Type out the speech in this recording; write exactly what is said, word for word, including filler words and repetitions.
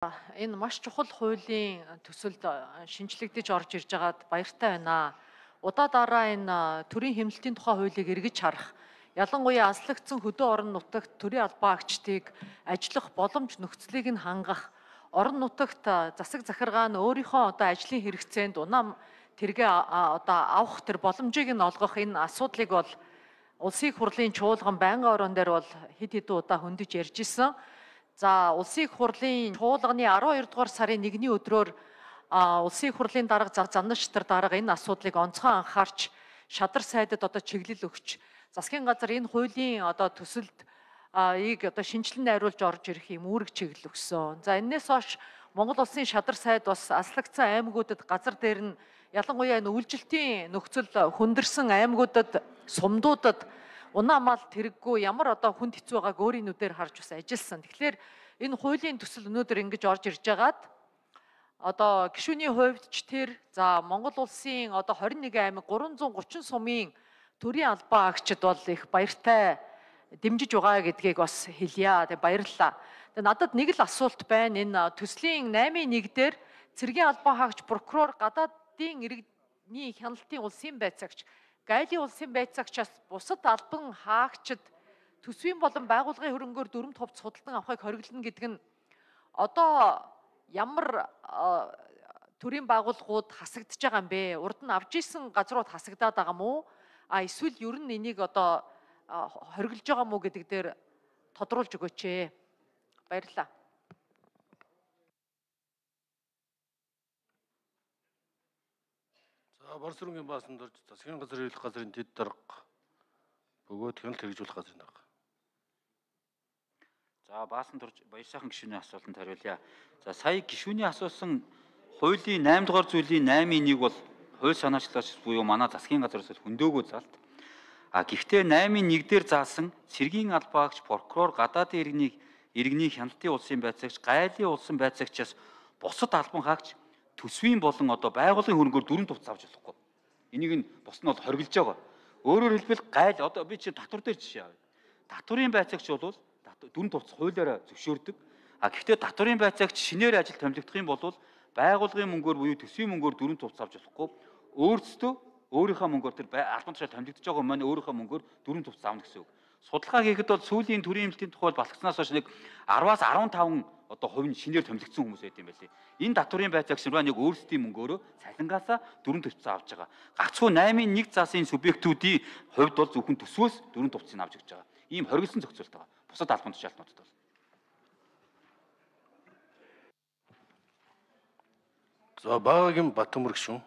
Энэ маш чухал хуулийн төсөлд шинжлэгдэж орж ирж байгаад баяртай байна. Удаа дараа энэ төрийн хэмнэлтийн тухай хуулийг эргэж харах, ялангуяа аслагдсан хөдөө орон нутагт төрийн албан агчдыг ажиллах боломж нөхцөлийг нь хангах, орон нутагт засаг захиргаа нь өөрийнхөө одоо ажлын хэрэгцээнд унаа тэргээ одоо авах тэр боломжийг нь олгох энэ асуудлыг бол улсын их хурлын чуулган байнгын орон дээр бол хэд хэдэн удаа хөндөж ярьж исэн. За улсын их хурлын чуулганы арван хоёр дугаар сарын нэгний өдрөөр улсын их хурлын дарга замнаштар дарга энэ асуудлыг онцгой анхаарч шадар сайдад одоо чиглэл өгч засгийн газар энэ хуулийн одоо төсөлд ийг одоо шинжилэн найруулж орж ирэх юм үүрэг чиглэл өгсөн. За энэс хойш Монгол улсын шадар сайд бас аслагдсан аймагуудад газар дээр нь ялангуяа энэ үйлчлэлтийн нөхцөл хүндэрсэн аймагуудад сумдуудад унаа мал тэрэггүй ямар одоо хүнд хэцүү байгааг өөрийн нүдээр харж бас ажилласан. Тэгэхээр энэ хуулийн төсөл өнөөдөр ингэж орж ирж байгаад одоо гишүүний хувьд ч тэр за Монгол улсын одоо хорин нэг аймаг гурван зуун гучин сумын төрийн албан агчид бол их баяртай дэмжиж байгаа гэдгийг бас хэлье. Тэг баярлалаа. Тэг надад нэг л асуулт байна. Энэ төслийн наймын нэг дээр цэргийн албан хаагч, прокурор, гадаадын иргэний хяналтын улсын байцаагч, гайлын улсын байцаагчаас бусад албан хаагчид төсвийн болон байгууллагын хөрөнгөөр дүрмт хувцас худалдан авахыг хориглоно гэдэг нь одоо ямар төрийн байгууллагууд хасагдж байгаа юм бэ? Урд нь авж исэн газрууд хасагдаад байгаа мó? А эсвэл ер нь энийг одоо хориглож байгаа мó гэдэг дээр тодруулж өгөөч ээ. Баярлалаа. За Барс өрнгийн баасанд орж засгийн газар хэлэх газрын дэд дарга бөгөөд хяналт хэрэгжүүлэх газрын дарга. За баасанд орж баяр сайхан гишүүний асуултанд хариулъя. За сая гишүүний асуусан хуулийн найман дугаар зүйлийн наймын нэг бол хууль санаачлалч буюу манай засгийн газраас хөндөөгөө залт. А гэхдээ наймын нэг дээр заасан цэргийн албан агч, прокурор, гадаадын иргэний иргэний хяналтын улсын байцаагч, гайлын улсын байцаагчаас бусад албан хаагч төсвийн болон одоо байгууллагын хөрөнгөөр дүрм тувц авч болохгүй. Энийг нь бус нь бол хориглож байгаа. Өөрөөр хэлбэл gaйл одоо би чи татвар дээр жишээ авъя. Татварын байцаагч бол дүрм тувц хуулиараа зөвшөөрдөг. А гэхдээ татварын байцаагч шинээр ажил томилогдох юм бол байгууллагын мөнгөөр буюу төсвийн мөнгөөр дүрм тувц авч болохгүй. Өөрсдөө өөрийнхөө мөнгөөр тэр албан тушаал томилогдож байгаа маань өөрийнхөө мөнгөөр дүрм тувц авна гэсэн үг. Судалгаа хийхэд бол сүүлийн төрийн хэмнэлтийн тухай балхснаас хойш нэг араваас арван таван одоо хувь нь шинээр томилогдсон хүмүүс байт юм байлээ. Энэ татварын байцаагч нар нэг өөрсдийн мөнгөөрөө цалингаасаа дүрм төвцөө авч байгаа. Гагцхүү наймын нэг засын субъектүүдийн хувьд бол зөвхөн төсвөөс дүрм төвцийг авч өгч байгаа. Ийм хоригдсан зохицуулт байгаа. Бусад албан тушаалтнуудад бол. За Багагийн Батөмөр гишүүн.